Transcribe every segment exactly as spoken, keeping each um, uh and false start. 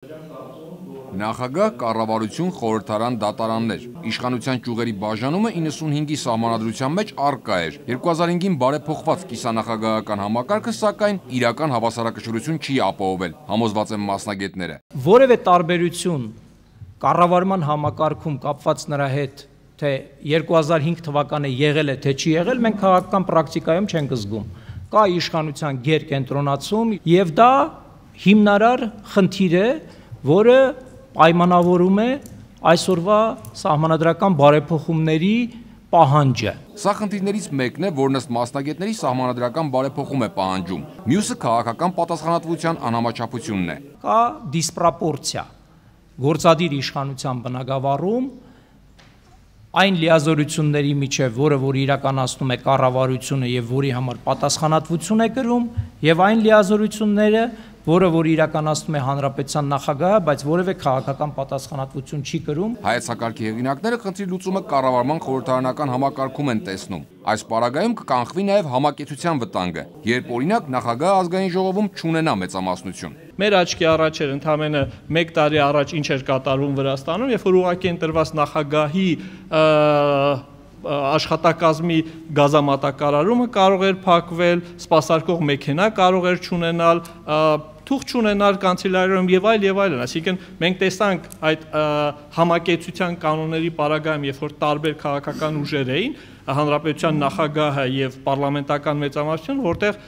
Նախագահ, կառավարություն, խորհրդարան, դատարաններ։ Իշխանության ճյուղերի բաժանումը իննսունհինգի սահմանադրության մեջ առկա էր։ երկու հազար հինգին բարեփոխված կիսանախագահական համակարգը, սակայն իրական հավասարակշռություն չի ապահովել, համոզված են մասնագետները։ Որևէ տարբերություն կառավարման համակարգում կապված նրա հետ, թե երկու հազար հինգ թվականը եղել է, թե չի եղել, մենք քաղաքական պրակտիկայում չենք զգում։ Կա իշխանության գերկենտրոնացում, եւ դա հիմնարար խնդիր է, որը պայմանավորում է այսօրվա սահմանադրական բարեփոխումների պահանջը։ Սա խնդիրներից մեկն է, որն ըստ մասնագետների սահմանադրական բարեփոխում է պահանջում։ Մյուսը քաղաքական պատասխանատվության անհամաչափությունն է։ Կա դիսպրոպորցիա գործադիր իշխանության բնագավառում այն լիազորությունների միջև, որը որ իրականացնում է կառավարությունը եւ որի համար պատասխանատվություն է կրում, եւ այն լիազորությունները, որը որ իրականացնում է հանրապետության նախագահը, բայց որևէ քաղաքական պատասխանատվություն չի կրում։ Հայեցակարգի հեղինակները խնդրի լուծումը կառավարման խորհրդարանական համակարգում են տեսնում։ Այս պարագայում կկանխվի նաև համակեցության վտանգը, երբ օրինակ նախագահը ազգային ժողովում չունենա մեծամասնություն։ Մեր աչքի առաջ էր ընդամենը մեկ տարի առաջ ինչ էր կատարվում Վրաստանում, երբ որ ուղղակի ընտրված նախագահի աշխատակազմի գազամատակարարումը կարող էր փակվել, սպասարկող մեքենա կարող էր չունենալ, թուղթ չունենալ կանցելարիայում եւ այլ եւ այլն, այսինքն մենք տեսանք այդ համակեցության կանոնների պարագայում, երբ որ տարբեր քաղաքական ուժեր էին, հանրապետության նախագահը եւ պարլամենտական մեծամասնություն, որտեղ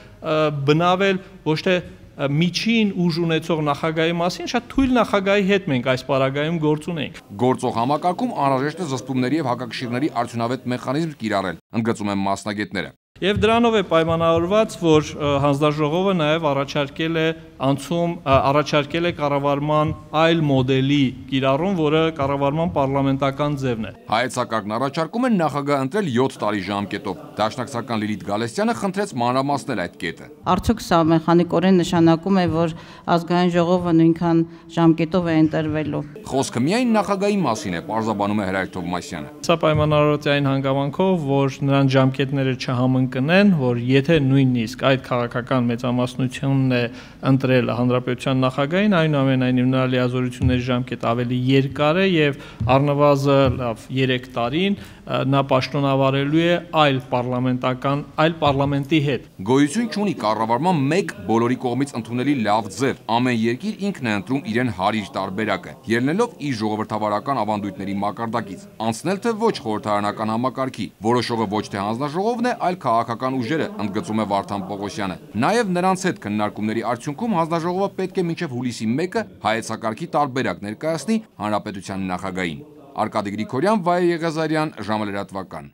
բնավել ոչ թե միջին ուժ ունեցող նախագահի մասին, շատ թույլ նախագահի հետ մենք այս պարագայում գործ ունենք։ Գործող համակարգում անհրաժեշտ է զսպումների եւ հակակշիռների արդյունավետ մեխանիզմ կիրառել, ընդգծում են մասնագետները։ Եվ դրանով է պայմանավորված, որ հանձնաժողովը նաև առաջարկել է անցում, առաջարկել է կառավարման այլ մոդելի կիրառում, որը կառավարման պարլամենտական ձևն է։ Հայեցակարգն առաջարկում են նախագահ ընտրել յոթ տարի ժամկետով։ Դաշնակցական Լիլիթ Գալստյանը խնդրեց մանրամասնել այդ կետը։ Արդյոք սա մեխանիկորեն նշանակում է, որ ազգային ժողովը նույնքան ժամկետով է ընտրվելու։ Խոսքը միայն նախագահի մասին է, պարզաբանում է Հրայր Թովմասյանը։ Սա պայմանավորված է այն հանգամանքով, որ նրանց ժամկետները չհամընկնեն, որ եթե նույնիսկ այդ քաղաքական մեծամասնությունն է ընտրել հանրապետության նախագահին, այնուամենայնիվ նրա լիազորությունների ժամկետը ավելի երկար է եւ առնվազն լավ երեք տարին նա պաշտոնավարելու է այլ պարլամենտական, այլ պարլամենտի հետ։ Գոյություն չունի կառավարման մեկ բոլորի կողմից ընդունելի լավ ձև։ Ամեն երկիր ինքն է ընտրում իրեն հարիր տարբերակը, ելնելով իր ժողովրդավարական ավանդույթների մակարդակից, անցնել թե ոչ խորհրդարանական համակարգի, որոշողը ոչ թե հանձնաժողովն է, այլ քաղաքական ուժերը, ընդգծում է Վարդան Պողոսյանը։ Նաև նրանց հետ քննարկումների արդյունքում հանձնաժողովը պետք է մինչև հուլիսի մեկը հայեցակարգի տարբերակ ներկայացնի հանրապետության նախագահին։ Արկադի Գրիգորյան, Վայե Եղիազարյան, ժամը լրատվական։